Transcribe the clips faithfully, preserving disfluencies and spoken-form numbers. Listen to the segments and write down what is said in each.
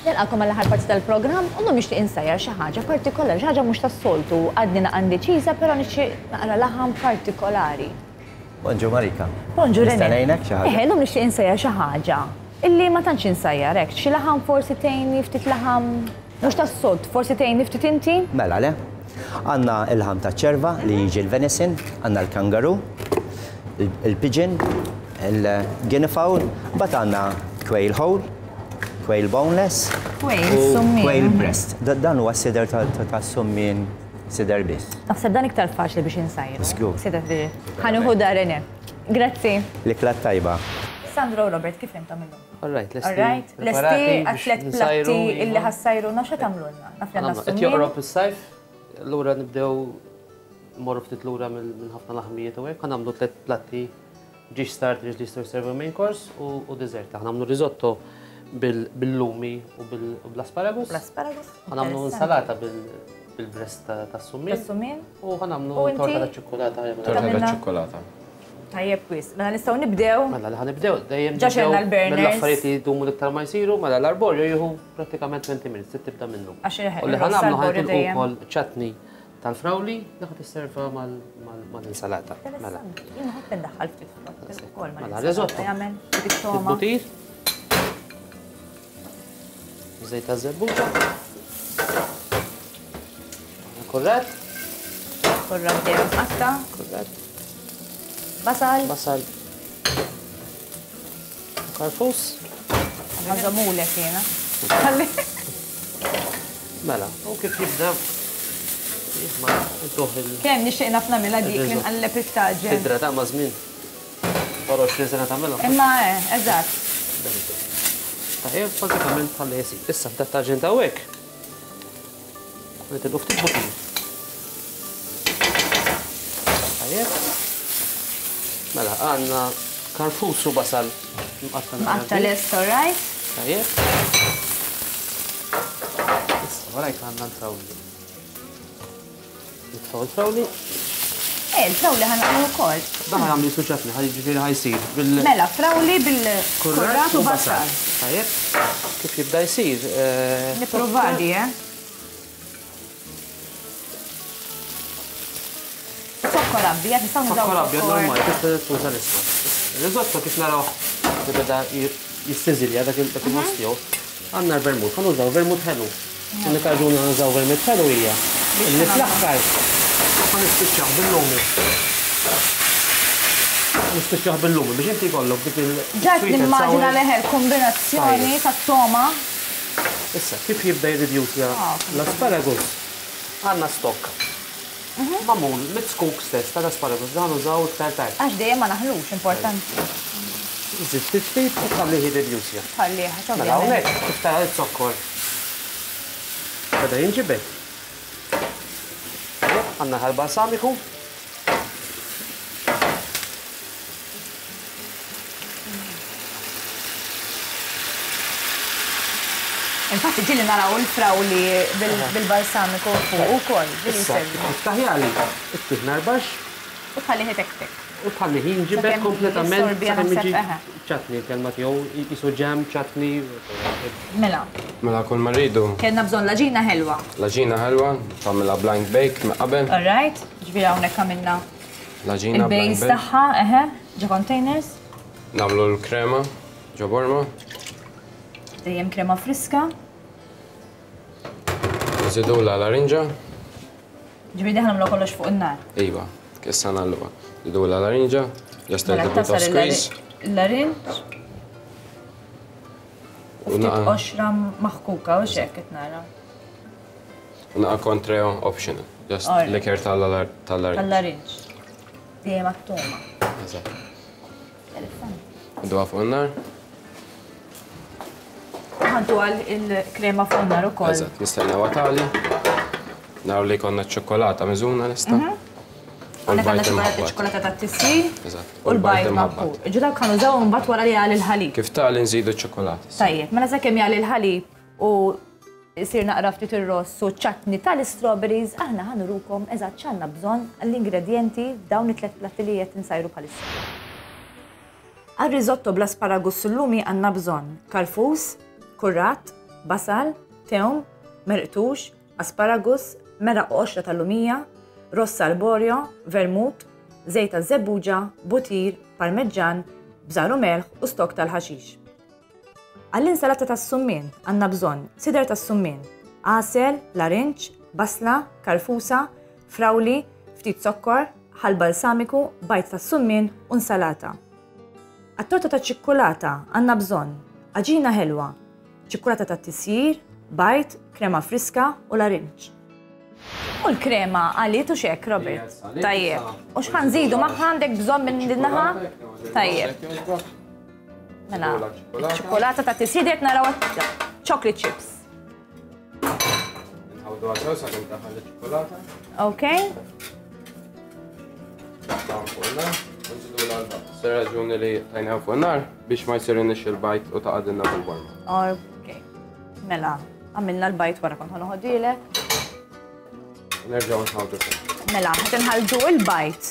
Nilqagħkom għall-aħħar parti tal-programm u llum nixtieq insajjar xi ħaġa partikolari, xi ħaġa mhux tas-soltu, għadni naqa' indeċiża, però nixtieq naqra laħam partikolari. Bonġu Marika. Bonġu Nista' René. ngħinek xi ħaġa? Eħe, llum nixtieq insajjar xi ħaġa illi ma tantx insajjar hekk, xi laħam forsi tgħinni ftit laħam mhux tas-soltu, forsi tgħinni ftit inti? Mela le. Għandna il-ħam ta' ċerva li jiġi l-venison, għandna l-kangaroo, il-pigeon, il-guinea fowl, mbagħad għandna quail whole, quail boneless, Quail, u summien. quail breast. Da- Dan huwa sider ta' ta' ta' summien sider biss. Naħseb dan iktar faċli biex insajru. Żgur. Sider biex. Ħa nieħu da René. Grazzi. L-ikla tajba. Sandro u Robert, kif intom illum? All right, lesti. All right, lesti għat-tlet platti illi ħa ssajrulna xa tagħmlulna? Naf li għandna Qed summien. joqrob is-sajf, allura nibdew morru ftit lura minn minn ħafna laħmijiet u hekk, ħa nagħmlu tliet platti ġiex starters li jistgħu jservu main course u u dessert. Ħa nagħmlu risotto bil- bil-lumi u bil- u bl-asparagus. L-asparagus. Ħa nagħmlu insalata bil- bil-breast ta- tas-summien. Tas-summien. U ħa nagħmlu U inti? torta ta' ċokolata. Torta Tagħmilna? ta' ċokolata. Tajjeb wis. Mela nistgħu nibdew. Mela li ħa nibdew dejjem Ġa xerna nibdew l-burners. mill-affarijiet li jdumu l-iktar ma jsiru, mela l-arborio jieħu prattikament twenty minutes, trid tibda minnu. Għax il- U li il-ross ħa nagħmlu arborio ħa nitilqu dejjem. wkoll chutney tal-frawli li ħa tisserva mal-insalata. Mela. Interessanti. Jien nħobb indaħħal ftit frott ukoll Mela, mal-insalata. risotto. Jagħmel ftit toma. Butir. Żejt ta' żebbuġa. Kurrat. Kurrat dejjem qatta. Kurrat. Basal. Basal. Karfus. Ħażomulek jiena. Ħalli. Mela, u kif jibda ma intuħ il Kemm nixtieq naf nagħmilha dik li Il-risotto. nqalleb it-taġen. Tidra ta' ma' żmien. Wara għoxrin sena tagħmilha. Imma eh, eżatt. Tajjeb, bażikament ħalli jsir. Issa f'dat taġen ta' hekk. Nitilqu ftit butir. Tajjeb. Mela, għandna karfus u basal mqatta' Mqatta' lest, all right? Tajjeb. Issa, warajk għandna l-frawli. Nitfgħu l-frawli. Eh, il-frawli ħa naqlu wkoll. Dan ħa jagħmel suċatni, ħa jiġifieri ħa jsir bil Mela, frawli bil-kurrat u basal. Tajjeb. Kif jibda jsir? eh, Nipprova di, eh? Zokkor abjad, nistgħu nużaw Zokkor abjad zokkor. normali, tista' tuża l-iswed. Il-risotto kif naraw li beda jissiżilja dak il- dak il-ħoss tiegħu. Għandna l-vermut, ħa nużaw vermut ħelu. L-unika raġuni ħa nużaw vermut ħelu hija li fl-aħħar ħa nispiċċaw bil-lumi. Nispiċċaw bil-lumi biex inti jkollok dik il- Ġat sweet and nimmaġina sour. leħel kombinazzjoni Tajjeb. tat-toma. Issa, kif jibda jirridjuċja Ah, l-asparagus, għandna stock. Magħmul mit-zkuk stess tal-asparagus, dan użaw iktar tard. Għax dejjem ma naħlux, importanti. Żid ftit ftit u tħallih jirridjuċja. Tħallih, għax Mela ovvjament. hawnhekk kif tara z-zokkor. Beda jinġibed. Għandna ħal-balsamiku. Infatti ġieli naraw il-frawli bil- bil-balsamiku fuq ukoll. Ġieli Issa, jservi. kif taħjali, ittih narbax U tħallih itektek. u tħallih jinġibed Sakemm kompletament jissorbi sakemm naħseb, jiġi eħe. chutney, kelma tiegħu jisu jam, chutney. Mela, Mela kull ma rridu, kellna bżonn l-għaġina ħelwa. l-għaġina ħelwa, tagħmilha blind bake minn qabel. All right, ġifieri hawnhekk għamilna L-għaġina blind il-base bake. tagħha, eħe, ġo containers, Nagħmlu l-krema ġo borma. Dejjem krema friska. Nżidu la larinġa. Ġifieri ħa nagħmlu kollox fuq in-nar. Iva, issa nagħluha. Nżidu la larinġa, just a Mela little bit of tasar squeeze. il-larinġ. U U ftit naqa- qoxra maħkuka u xek qed nara. U naqa Cointreau optional. Just Alright. liquor tal-larinġ. Tal-larinġ. Dejjem għat-toma. Eżatt. Interessanti. Nduha fuq in-nar. Ħantu għal il-krema fuq in-nar ukoll. Eżatt, nistennew tagħli. Naraw li konna ċokolata miżuna lesta. U Għandek għandna l-bajd ċokolata imħabbat. ċokolata tat-tisjir Eżatt. u l-bajd maħbut. Ġu dawk ħa nużaw mbagħad wara li jagħli l-ħalib. Kif tagħli nżidu ċ-ċokolata. Tajjeb, mela sakemm jagħli l-ħalib u jsir naqra ftit ir-ross u chutney tal-strawberries, aħna ħa nurukom eżatt x'għandna bżonn l-ingredjenti f'dawn it-tliet platti li qed insajru bħalissa. Għal-risotto bl-asparagus sul-lumi għandna bżonn karfus, kurrat, basal, tewm, merqtux, asparagus, meraq u qoxra tal-lumija, rossa arborio, vermut, żejt taż-żebbuġa, butir, parmeġġan, bżar u melħ u stok tal-ħaxix. Għall-insalata tas-summien għandna bżonn sider tas-summien, għasel, larinġ, basla, karfusa, frawli, ftit zokkor, ħal balsamiku, bajd tas-summien u insalata. Għat-torta ta' ċikkulata għandna bżonn għaġina ħelwa, ċikkulata ta' tisjir, bajd, krema friska u larinġ. U l-krema għaliet u xek, Robert? Tajjeb. U x'ħa nżidu magħha għandek bżonn minn din naħa? Tajjeb. Mela, ċikkulata ta' tisjir qed naraw chocolate chips. Nħawdu għasew sakemm taħal iċ-ċikkulata. Ok. Se raġuni li tajna fuq nar biex ma jsirinix il-bajt u taqadilna fil-borma. Ok. Mela, għamilna l-bajt wara kont ħanoħodilek. Nerġgħu nħawdu. Mela, qed inħaldu il-bajt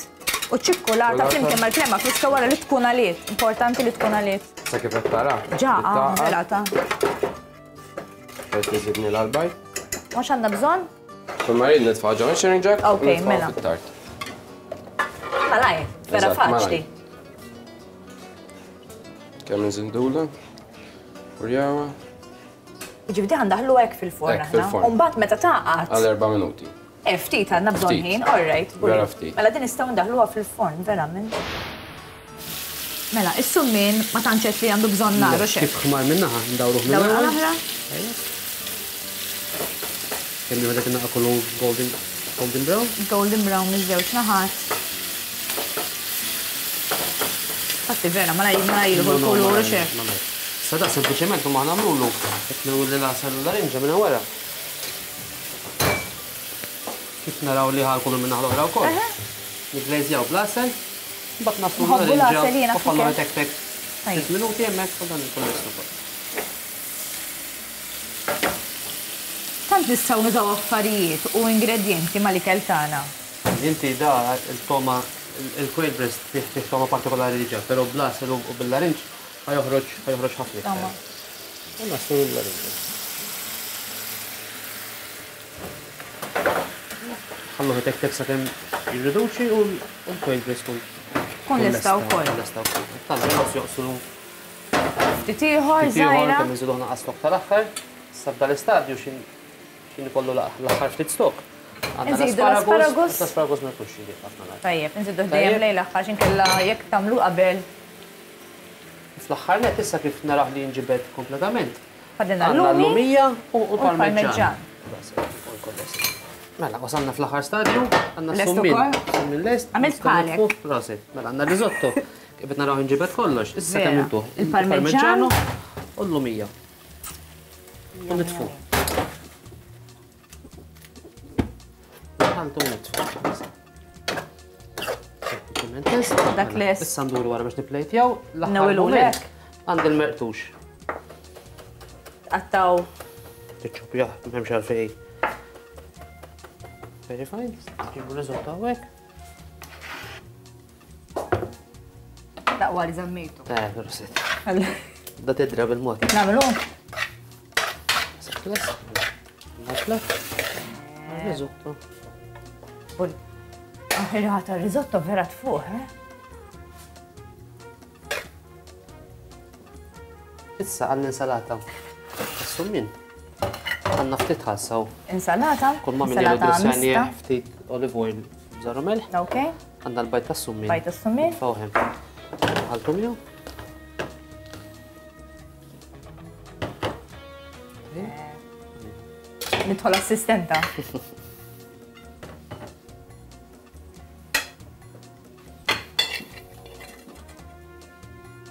u ċ-ċikkulata flimkien mal-krema friska wara li tkun għaliet. Importanti li tkun għaliet. Sa kif qed tara? Ġa, mela ta. Qed iżidni l-bajt. Mhux għandna bżonn? Kull ma rrid nitfa' ġo sharing jack. Ok, mela. Malaj, vera faċli. Kemm nżindula? Urjawa. Ġifieri ħandaħlu hekk fil-forn aħna. U mbagħad meta taqgħad. Għal erba' minuti. Eh, ftit għandna bżonn ħin, all right. Vera ftit. Mela din nistgħu ndaħluha fil-forn, verament. Mela, is-summien ma tantx li għandu bżonn nar u xejn. Kif ħmar minnaħa, ndawruh minnaħa. Dawru oħra. Kemm jieħu dak in-naqa kollu golden golden brown? Golden brown miż-żewġ naħat. Fatti vera, ma jilħu l-kulur u xejn. Sa da sempliċement ma nagħmlulu qed nagħmlu l-għasel u l-larinġa minn wara. Kif naraw li ħal kulur minn naħa l-oħra wkoll. Niglejżjaw bl-għasel, mbagħad nagħmlu l-larinġa u ħallu tek tek. Sitt minuti hemmhekk u dan ikun lest ukoll. Tant nistgħu nużaw affarijiet u ingredjenti mal-ikel tagħna. Inti da il-toma il-quail breast fih fih toma partikolari diġà, però bl-għasel u bil-larinġ ħajoħroġ ħajoħroġ ħafna iktar. U naslu l-larinġa. Ħalluh tek tek sakemm jirriduċi u l-quail breast kun. Kun lesta wkoll. Lesta wkoll. Tant joqslu. Ftit ieħor żgħira. Kemm inżiduh naqas stok tal-aħħar, sa f'dal-istadju x'in x'in ikollu l-aħħar ftit stok. Nżidu l-asparagus. L-asparagus ma jkunx jidher ħafna nar. Tajjeb, nżidu dejjem lejn l-aħħar x'inkella jekk tagħmlu qabel. Fl-aħħar net issa kif naraħ li jinġibed kompletament. Fadlina l-lumija u l-parmeġġan. Mela, wasalna fl-aħħar stadju, għandna s-summin. Summin lest. Għamilt bħalek. Prosit. Mela, għandna risotto. Kif qed naraw inġibed kollox. Issa kemm intuh. Il-parmeġġano u l-lumija. U nitfu. Ħaltu nitfu. Dak lest. Issa nduru wara biex niplejtjaw. L-aħħar moment għand il-merqtux. Tqattaw. Tiċċopja, m'hemmx għalfejn. Very fine. Ġibu risotto hawnhekk. Daqwa li żammejtu. Eh, prosit. Da tidra bil-mod. Nagħmlu. Nasla. Risotto. Bul. Aħirata risotto vera tfuq, eh? Issa għall-insalata. Assummin. Għanna ftit ħassaw. Insalata? Kull ma minn dressjani ftit olive oil bżar u melħ. Ok. Għandna l-bajt tas-summin. Bajt tas-summin. Fawħem. Ħaltu miegħu. Nidħol assistenta.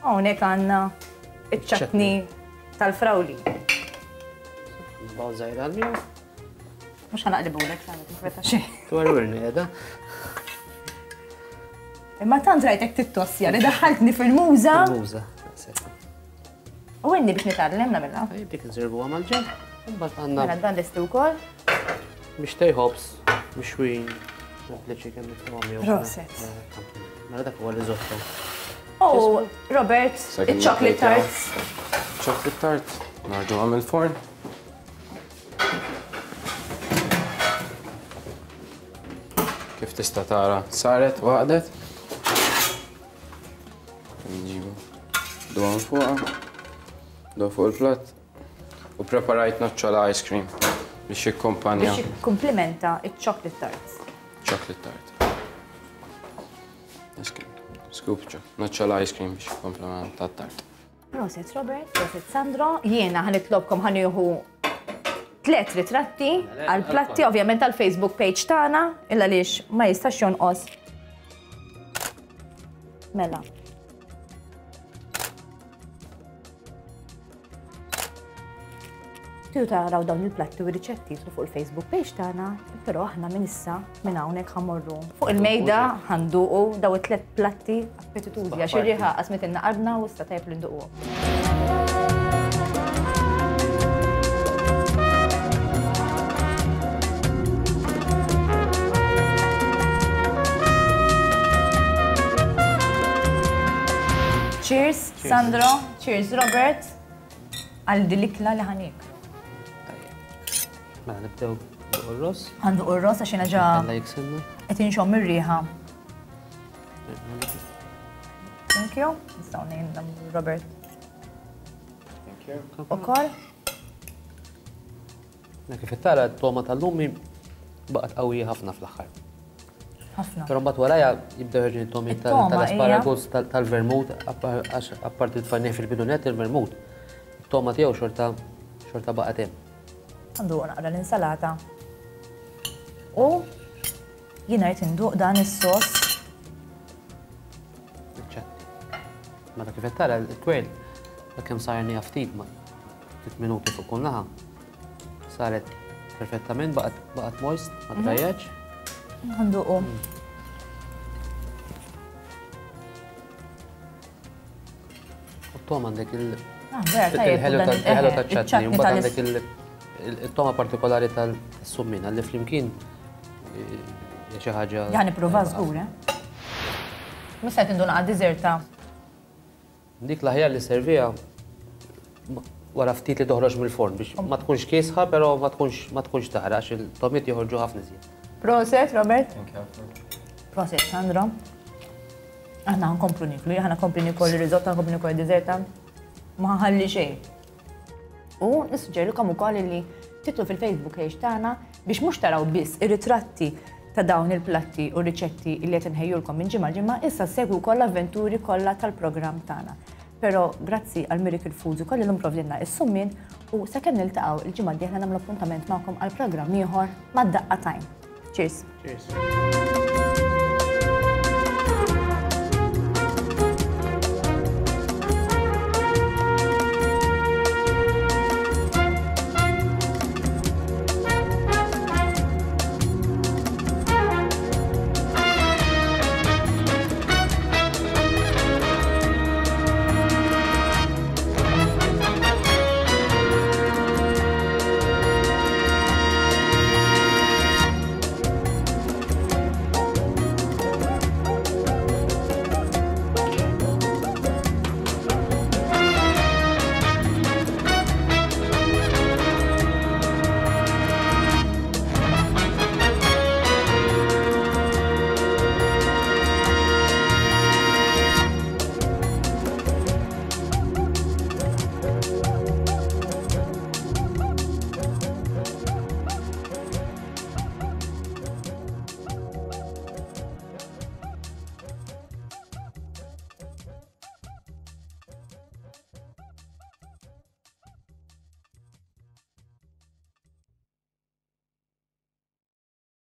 Hawnhekk għandna iċ-ċatni tal-frawli. Baw żgħira għal-miegħu. Mhux ħanaqlibulek, sa tinkweta xejn. Twerwirni qiegħda. Imma tant rajtek tittossja li daħħaltni fil-muża. Fil-muża. U inni biex nitgħallem nagħmilha. Tajjeb dik nservuha mal-ġenb. Imbagħad għandna. Mela dan lesti wkoll. Biex tejħobs, mixwin, sempliċi kemm nitfgħu miegħu. Proset. Mela dak huwa risotto. Oh, Robert, il-chocolate tarts. Chocolate tart, narġu għam il-forn. Kif tista' tara saret waqdet. Nġibu dwan fuqha, dwan fuq il-platt. U preparajt noċċola ice cream biex jikkumpanja. Biex jikkumplimenta il-chocolate tarts. Chocolate tart. Ice cream. Scoop noċċola ice cream biex jikkumplimenta t-tart. Proset Robert, proset Sandro. Jiena ħa nitlobkom ħa nieħu tliet ritratti għal-platti, ovvjament għal-Facebook page tagħna, illa għaliex ma jistax jonqos. Mela. Tridu taraw dawn il-platti u riċetti fuq il-Facebook page tagħna, però aħna minn issa minn hawnhekk ħa mmorru fuq il-mejda ħa nduqu daw it-tliet platti appetitużi għax ir-riħa qasmitilna qalbna u issa tajjeb li nduquhom. Cheers, Sandro, cheers Robert, għal din l-ikla li ħa nieklu. Mela nibdew r-ross. Ħa nduq ir-ross għax jiena ġa qed inxomm ir-riħa. Thank you. Nistgħu ngħin Robert. Thank you. Ukoll. Kif tara t-toma tal-lumi baqgħet qawwija ħafna fl-aħħar. Ħafna. Però mbagħad warajja jibdew ħerġin it-tomi tal-asparagus, tal-vermut, għax apparti tfajnieh fil-bidunet il-vermut. It-toma tiegħu xorta xorta baqgħet hemm. Għandu naqra l-insalata. U jiena rrid induq dan is-sos. Mela kif qed tara l-kwel, kemm sajrniha ftit ma ftit minuti fuq kull naħa. Saret perfettament, baqgħet moist, ma trajjax. Għanduqu. U t-toma għandek il-ħelu taċ-ċatni, u mbagħad għandek il-toma partikolari tal-summina li flimkien xi ħaġa. Ja nipprova żgur, eh? Mista tinduna għad-diżerta. Dik l-aħjar li serviha wara ftit li toħroġ mill-forn biex ma tkunx kiesħa, però ma tkunx ma tkunx taħraq għax il-tomiet joħorġu ħafna iżjed. Proset, Robert. Proset, Sandro. Aħna nkomplu niklu, aħna nkomplu nikol ir-riżotta, nkomplu nikol id-diżerta. Ma ħalli xejn. U nissuġġerilkom ukoll li titlu fil-Facebook page tagħna biex mhux taraw biss ir-ritratti ta' dawn il-platti u riċetti li qed inħejjulkom minn ġimgħa ġimgħa, issa segwu wkoll l-avventuri kollha tal-programm tagħna. Però grazzi għal Miracle Foods ukoll illum provdilna is-summien u sakemm niltaqgħu il-ġimgħa d-dieħla nagħmlu appuntament magħkom għal programm ieħor mad-Daqqa Time. Cheers. Cheers.